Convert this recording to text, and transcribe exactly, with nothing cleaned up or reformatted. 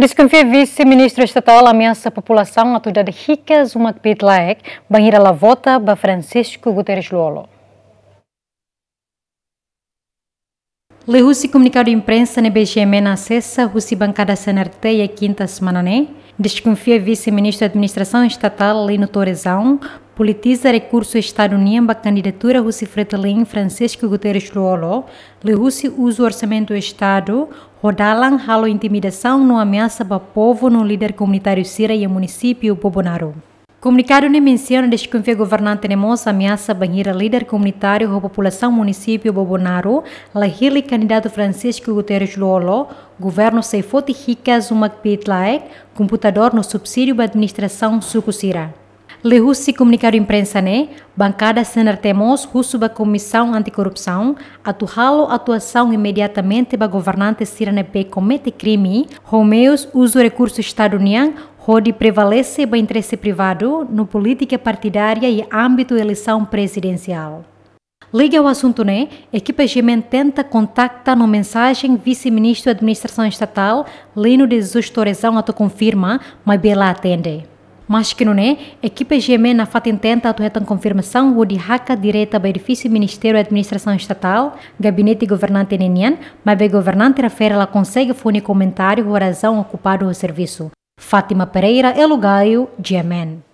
Deskonfia Vise-Ministru Estatál ameasa populasaun atu dada hikas uma kbiit-laek bainhira la vota ba Francisco Guterres Lú-Olo. Liuhusi komunikadu imprensa ne'ebé GMN asesa husi bankada CNRT iha kinta semana ne'e, deskonfia Vise-Ministru Administrasaun Estatál Lino Torezão politiza rekursu Estadu nian ba kandidatura husi Fretilin Francisco Guterres Lú-Olo, liuhusi uzu orsamentu Estadu ho dalan halo intimidasaun no ameasa ba povu no líder komunitáriu sira iha munisípiu Bobonaro. Komunikadu ne'e mensiona deskonfia governante ne'e mós ameasa bainhira líder komunitáriu ho populasaun munisípiu Bobonaro la hili kandidatu Francisco Guterres Lú-Olo, governu sei foti hikas uma kbiit-laek, komputadór no subsídiu ba administrasaun suku sira. Liuhusi komunikadu imprensa ne'e, bankada CNRT mós husu ba Komisaun Antikorrupsaun atu halo atuasaun imediatamente ba governante sira ne'ebé komete krime ho meius uzu rekursu Estadu nian hodi prevalese ba interese privadu no polítika partidária iha ámbitu eleisaun prezidensiál. Liga ho asuntu ne'e, ekipa GMN tenta kontakta no mensajen Vise-Ministru Administrasaun Estatál Lino de Jesus Torezão atu konfirma, maibé la atende. Maske nune'e, ekipa GMN nafatin tenta atu hetan konfirmasaun hodi hakat direta ba edifísiu Ministériu Administrasaun Estatál, gabinete governante ne'e nian, maibé governante refere la konsege fó nia komentáriu ho razaun okupadu ho servisu. Fátima Pereira, Elo Gaio, GMN.